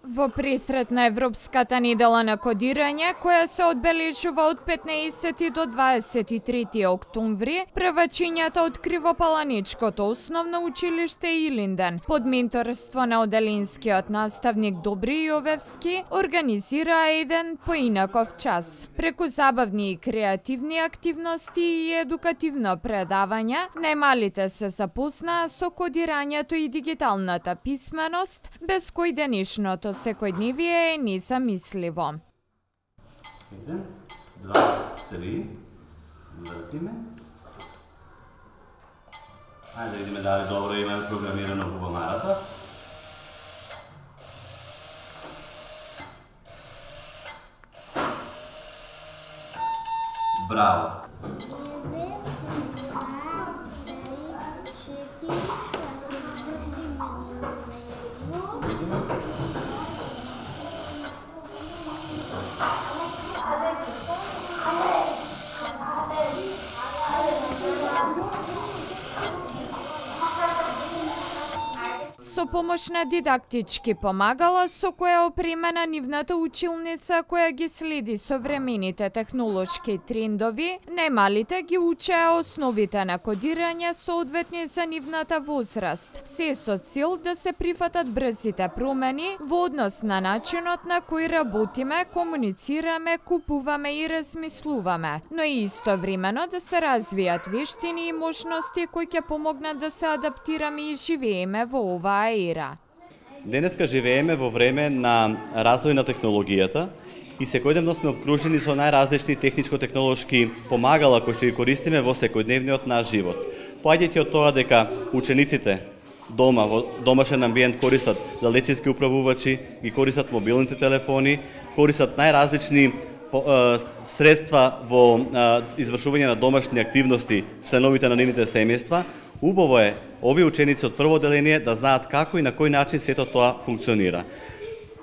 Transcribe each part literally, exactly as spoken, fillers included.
Во пресрет на Европската недела на кодирање, која се одбележува од петнаесети до дваесет и трети октомври, првачињата од Кривопаланичкото основно училиште Илинден, под менторство на оделинскиот наставник Добри Јовевски, организираа еден поинаков час. Преку забавни и креативни активности и едукативно предавање, најмалите се запознаа со кодирањето и дигиталната писменост, без кој денешното секојдневие е незамисливо. Еден, два, три, вртиме. Ајде да видиме дали добро имаме програмирано бубамарата. Браво! Со помош на дидактички помагала со која опремена нивната училница која ги следи современите технолошки трендови, најмалите ги учеа основите на кодирање соодветни за нивната возраст, се со цел да се прифатат брзите промени во однос на начинот на кој работиме, комуницираме, купуваме и размислуваме, но и истовремено да се развијат вештини и можности кои ќе помогнат да се адаптираме и живееме во оваа ера. Денеска живееме во време на развој на технологијата и секојдневно сме обкружени со најразлични техничко-технолошки помагала кои ќе ги користиме во секојдневниот наш живот. Поаѓајќи од тоа дека учениците дома во домашен амбиент користат далечински управувачи, ги користат мобилните телефони, користат најразлични средства во извршување на домашни активности членовите на нивните семејства, убаво е овие ученици од прво оделение да знаат како и на кој начин сето тоа функционира.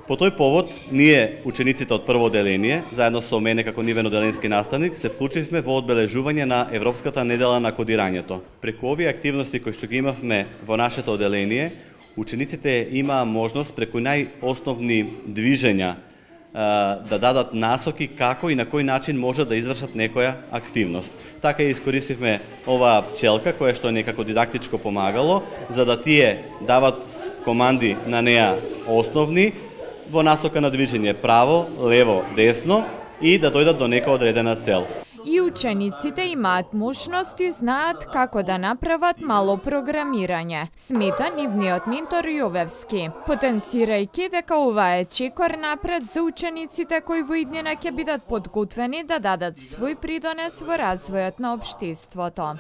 По тој повод, ние, учениците од прво оделение, заедно со мене како нивен оделенски наставник, се вклучивме во одбележување на Европската недела на кодирањето. Преку овие активности кои што ги имавме во нашето оделение, учениците имаа можност преку најосновни движења да дадат насоки како и на кој начин може да извршат некоја активност. Така и искористивме оваа пчелка која што е некако дидактичко помагало, за да тие дават команди на неа основни во насока на движење право, лево, десно и да дојдат до нека одредена цел. И учениците имаат можност и знаат како да направат мало програмирање, смета нивниот ментор Јовевски, потенцирајќи дека ова е чекор напред за учениците кои во иднина ќе бидат подготвени да дадат свој придонес во развојот на општеството.